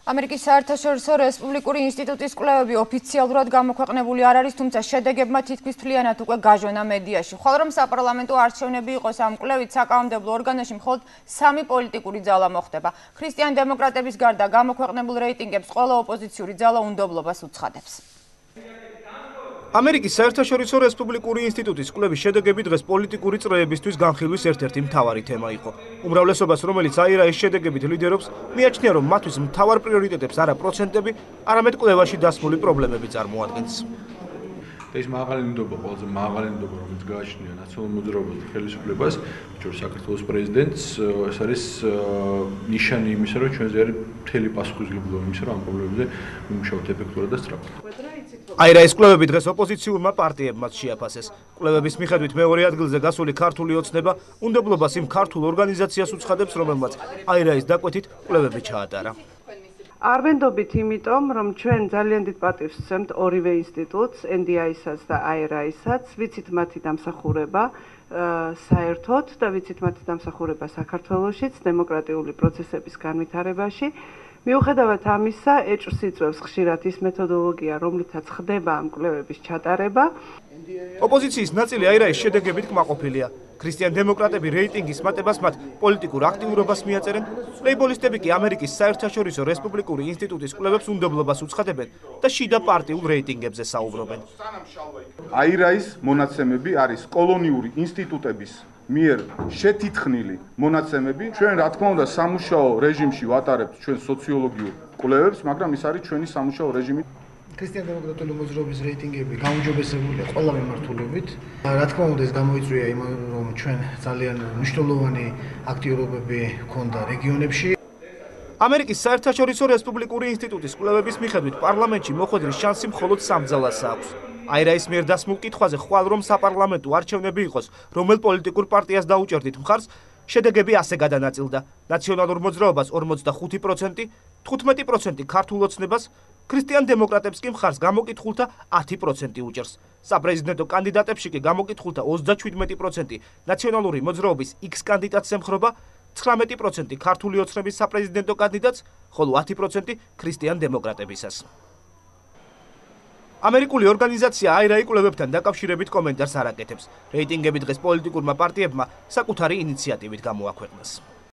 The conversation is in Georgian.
ამერიკის საერთაშორისო რესპუბლიკური ინსტიტუტის კვლევები ოფიციალურად გამოქვეყნებული არ არის, თუმცა შედეგებმა თითქმის მთლიანად უკვე გაჟონა მედიაში. ხოლო რომ საპარლამენტო არჩევნები იყოს ამ კვლევით, საკანონმდებლო ორგანოში მხოლოდ 3 პოლიტიკური ძალა მოხდება. ქრისტიან დემოკრატების გარდა გამოქვეყნებულ რეიტინგებს ყველა ოპოზიციური ძალა უნდობლობას უცხადებს. ამერიკის საერთაშორისო რესპუბლიკური ინსტიტუტის კვლევის შედეგები დღეს პოლიტიკური წრეებისთვის განხილვის ერთ-ერთი მთავარი თემა იყო. უმრავლესობას, რომელიც აირაის შედეგებით ლიდერობს, მიაჩნია, რომ მათთვის მთავარ პრიორიტეტებს არა პროცენტები, არამედ კვლევაში დასმული პრობლემები წარმოადგენს. ეს მაღალი ნდობა, ყველაზე მაღალი ნდობა, რომელიც გააჩნია ნაციონალურ მოძრაობას და ხელისუფლებას, ჩვენს საქართველოს პრეზიდენტს, ეს არის ნიშანი იმისა, რომ ჩვენზე არის მთელი პასუხისმგებლობა იმისა, რომ ამ პრობლემებზე ვიმუშაოთ ეფექტურად და სწრაფად. აირაის კვლევები დღეს ოპოზიციურმა პარტიებმაც შეაფასეს. კვლევების მიხედვით მეორე ადგილზე გასული ქართული ოცნება უნდობლობას იმ ქართულ ორგანიზაციას უცხადებს, რომელმაც აირაის დაკვეთით კვლევები ჩაატარა. არ ვენდობით იმიტომ, რომ ჩვენ ძალიან დიდ პატივს ვცემთ ორივე ინსტიტუტს, NDI-საც და AIRA-ისაც, ვიცით მათი დამსახურება საერთოდ და ვიცით მათი დამსახურება საქართველოშიც, დემოკრატიული პროცესების განვითარებაში. მიუხედავად ამისა, ეჭვს იწვევს ხშირად ის მეთოდოლოგია, რომლითაც ხდება ამ კვლევების ჩატარება. ოპოზიციის ნაწილი აირაის შედეგებით კმაყოფილია. ქრისტიან დემოკრატები რეიტინგის მატებას მათ პოლიტიკურ აქტიურობას მიაწერენ, ლეიბოლისტები კი ამერიკის საერთაშორისო რესპუბლიკური ინსტიტუტის კვლევებს უნდობლობას უცხადებენ და შიდა პარტიულ რეიტინგებზე საუბრობენ. აირაის მონაცემები არის კოლონიური ინსტიტუტების მიერ შეთითხნილი მონაცემები. ჩვენ რა თქმა უნდა სამუშაო რეჟიმში ვატარებთ ჩვენ სოციოლოგიურ კვლევებს, მაგრამ ის არის ჩვენი სამუშაო რეჟიმი. ქრისტიან დემოკრატიული მოძრაობის რეიტინგები გაუმჯობესებულია ყველა მიმართულებით. რა თქმა უნდა ეს გამოიწვია იმან, რომ ჩვენ ძალიან მნიშვნელოვანი აქტიურობები ჰქონდა რეგიონებში. ამერიკის საერთაშორისო რესპუბლიკური ინსტიტუტის კვლევების მიხედვით პარლამენტში მოხვედრის შანსი მხოლოდ 3 ძალას აქვს. აირაის მიერ დასმულ კითხვაზე ხვალ რომ საპარლამენტო არჩევნები იყოს, რომელ პოლიტიკურ პარტიას დაუჭერდით მხარს, შედეგები ასე გადანაწილდა. ნაციონალურ მოძრაობას 45%, 15% ქართულ ოცნებას, ქრისტიან დემოკრატებს კი მხარს გამოკითხულთა 10% უჭერს. საპრეზიდენტო კანდიდატებში კი გამოკითხულთა 37%, ნაციონალური მოძრაობის X კანდიდატს ემხრობა, 19% ქართული ოცნების საპრეზიდენტო კანდიდატს, ხოლო 10% ქრისტიან დემოკრატებისას. ამერიკული ორგანიზაცია AIRA კვლევებთან დაკავშირებით კომენტარს არ აკეთებს. რეიტინგები დღეს პოლიტიკურმა პარტიებმა საკუთარი ინიციატივით გამოაქვეყნეს.